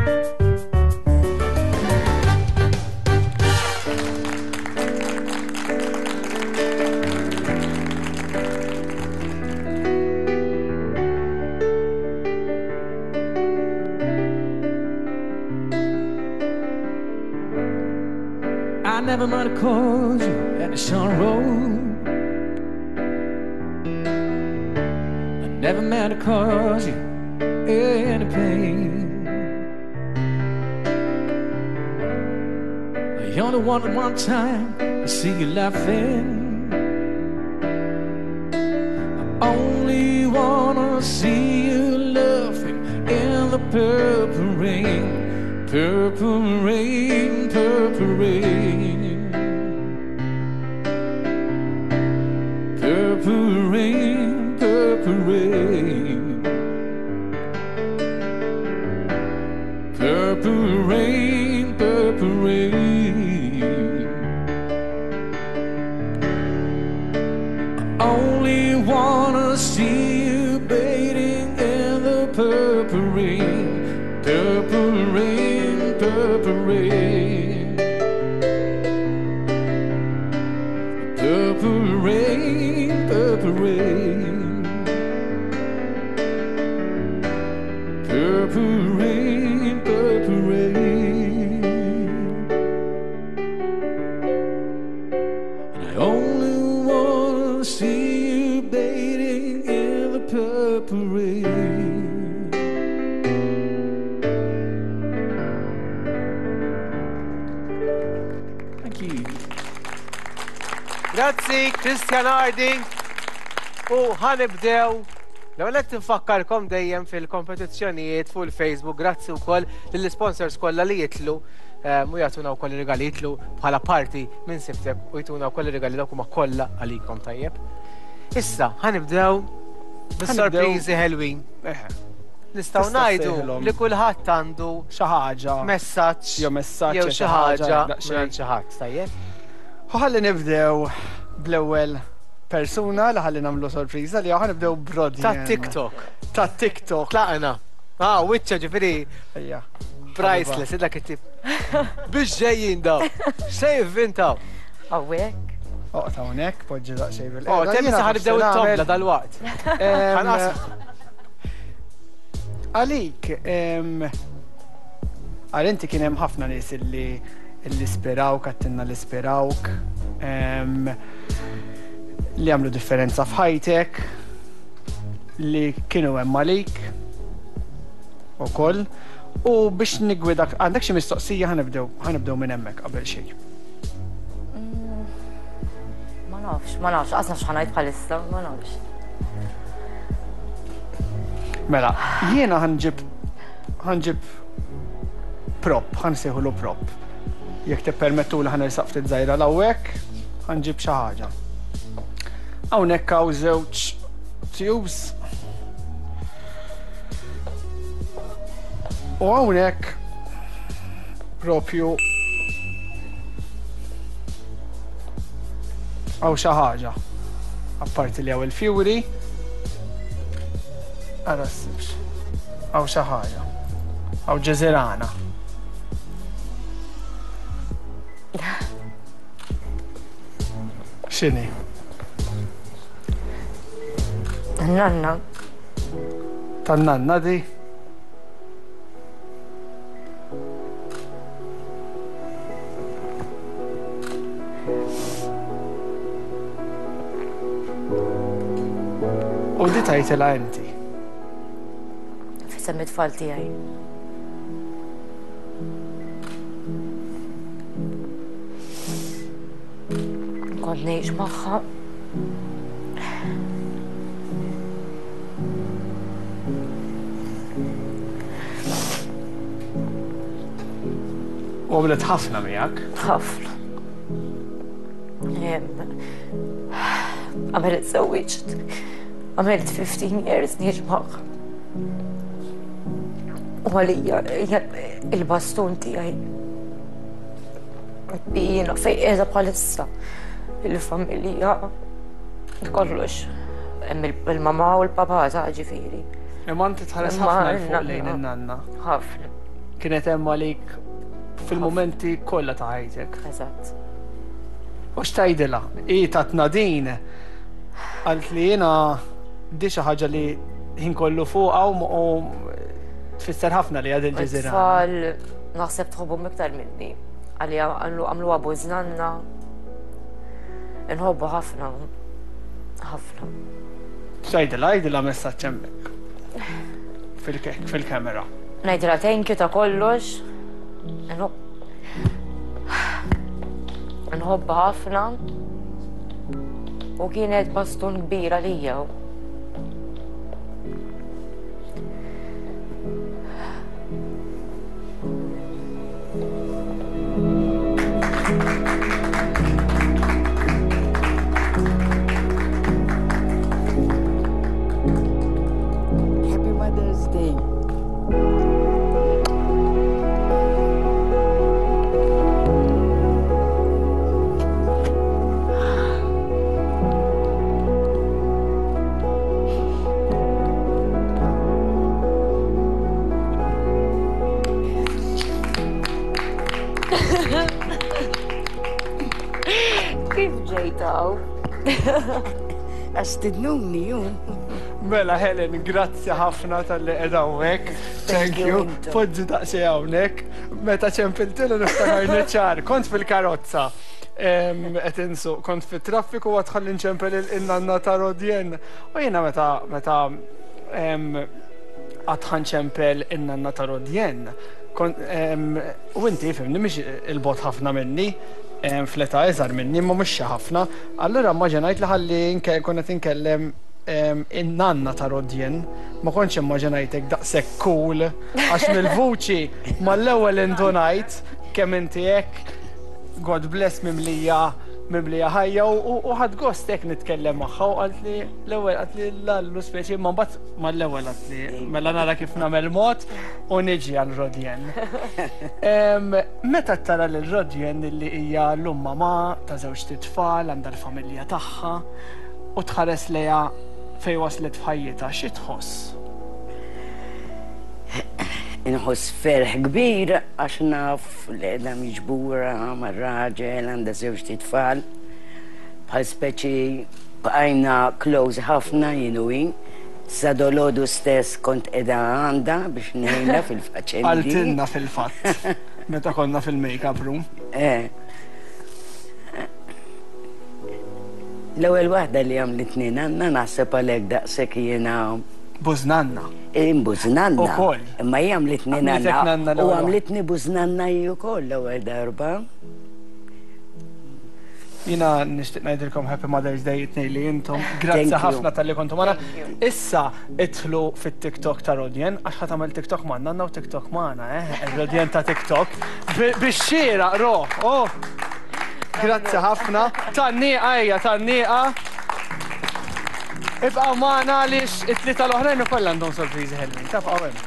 I never might have caused you any sorrow. I never meant to cause you any pain. I only wanted one time to see you laughing. I only wanna see you laughing in the purple rain, purple rain, purple rain. Purple rain, purple rain. Purple rain, purple rain. I only wanna see you bathing in the purple rain, purple rain, purple rain. Purple rain, purple rain. Purple rain, purple rain. And I only wanna see you bathing in the purple rain. Thank you. Grazzi, Christian Harding. U ħa nibdew L-ewwel qed nfakkarkom dejjem fil-kompetizzjonijiet fuq il-Facebook, grazzi wkoll lill-sponsors kollha li jitlu u jagħtuna wkoll rigali jitlu bħala parti minn Siftek u jtuna wkoll rigali dawk huma kollha għalikom tajjeb. Issa ħa nibdew bis-sorpriżi ħelwin. Nistgħu ngħidu li kulħadd għandu xi ħaġa, messaġġ jew messaġġ jew xi ħaġa minn xi ħadd, tajjeb. U ħalli nibdew bl-ewwel persuna li ħalli nagħmlu sorpriża li ħa nibdew b'Rodjan. Ta' TikTok. Ta' TikTok. Tlaqna. Ah, wiċċa ġifieri. Ejja. Priceless, dak it-tip. Biex ġejjin daw. Se jivvintaw. Hawnhekk. Oqgħod hawnhekk, poġġi daqsxejn bil Oh, temm issa ħanibdew it-tobla dal-waqt. Għalik, għal inti kien hemm ħafna nies illi illi spirawk, għattinna li spirawk, li għamlu differenza f'ħajtek, li kienu hemm għalik ukoll. U biex nigwidak, għandek xi mistoqsija ħa nibdew, ħa nibdew minn hemmhekk qabel xejn. Ma nafx, ma nafx, qas nafx x'ħa ngħid bħalissa, ma nafx. Mela, jiena ħa nġib ħa nġib prop, ħa nsejħulu prop. Jekk tippermettu li ħa nersaq ftit żgħira l-hawnhekk, ħa nġib xi ħaġa. Hawnhekk hawn żewġ tubes. U hawnhekk propju hawn xi ħaġa. Apparti li hawn il-fjuri. Ara ssibx. Hawn xi ħaġa. Hawn ġeżirana. X'inhi? Nanna. Tan-nanna di? U di tajtilha inti. F'isem it-tfal tiegħi. Kont ngħix magħha. U għamlet ħafna miegħek. Ħafna. Qabel iżżewwiġt, għamilt 15 years ngħix magħha. U għalija hija il-bastun tiegħi. Jiena fejn qiegħda bħalissa il-familja kollox. Hemm il-mamà u l-papà ta' ġifieri. Imma inti tħares ħafna 'l fuq lejn in-nanna. Ħafna. Kienet hemm għalik fil-mumenti kollha ta' ħajtek. Eżatt. U x'tgħidilha? Hi tatna din għalt li jiena di xi ħaġa li ħin kollu fuqha u tfisser ħafna li għad il-ġeżira. Tfal naħseb tħobbhom iktar minni. Għalija għamlu bużnanna. Nħobbu ħafna. Ħafna. X'tgħidilha? Għidilha messaġġ hemmhekk. Fil-kamera. Ngħidilha thank you ta' kollox. Nħobbha ħafna. U kienet bastun kbir għalija. Happy Mother's Day. Kif ġejt hawn? Għax stidnuni ju. Mela Helen, grazzi ħafna talli qiegħda hawnhekk. Thank you. Poġġi daqsxejn hawnhekk. Meta ċempiltilu niftakarni ċar, kont fil-karozza. Qed insuq, kont fit-traffiku għad ħalli nċempel il-nanna ta' Rodjen. U jiena meta meta għad ħanċempel in-nanna ta' Rodjen. U inti fimni mhix il-bot ħafna minni, fl-età iżgħar minni, imma mhux xi ħafna. Allura immaġinajt li ħalli nkun qed inkellem in-nanna ta' Rodjen. Ma kontx immaġinajtek daqshekk cool għax mill-vuċi mal-ewwel indunajt kemm inti hekk God bless mimlija mimlija ħajja u ħadt gost hekk nitkellem magħha u qaltli l-ewwel qaltli l-allu speċi imma mbagħad mal-ewwel qaltli mela nara kif nagħmel mod u niġi għal Rodjen. Meta tara lil Rodjen li hija llum mamà ta' żewġt itfal għandha l-familja tagħha u tħares lejha fejn waslet f'ħajjitha, xi tħoss? Inħoss ferħ kbir għax naf li qiegħda miġbura mar-raġel, għandha żewġt itfal. Bħal speċi bqajna close ħafna jien u hi. Sa dolodu stess kont qiegħda għandha biex ngħinha fil-faċendi. Qaltilna fil-fatt meta konna fil-makeup room. Eh. L-ewwel waħda li għamlitni nanna naħseb għalhekk daqshekk jiena. Bużnanna. Bużnanna. Ukoll. Imma hi għamlitni nanna. U għamlitni bużnanna hi wkoll l-ewwel darba. Jiena nixtieq ngħidilkom Happy Mother's Day it-tnejn li intom. Grazzi ħafna talli kontu magħna. Issa idħlu fit-TikTok ta' Rodjen għax ħa tagħmel TikTok ma' nanna u TikTok magħna, eh? Rodjen ta' TikTok. Bix-xieraq, ro! Oh! Grazzi ħafna. Tanniqa ejja, tanniqa. Ibqgħu magħna għaliex it-tlieta l-oħrajn ukoll għandhom sorpriżi ħelwin. Tabqgħu hemm.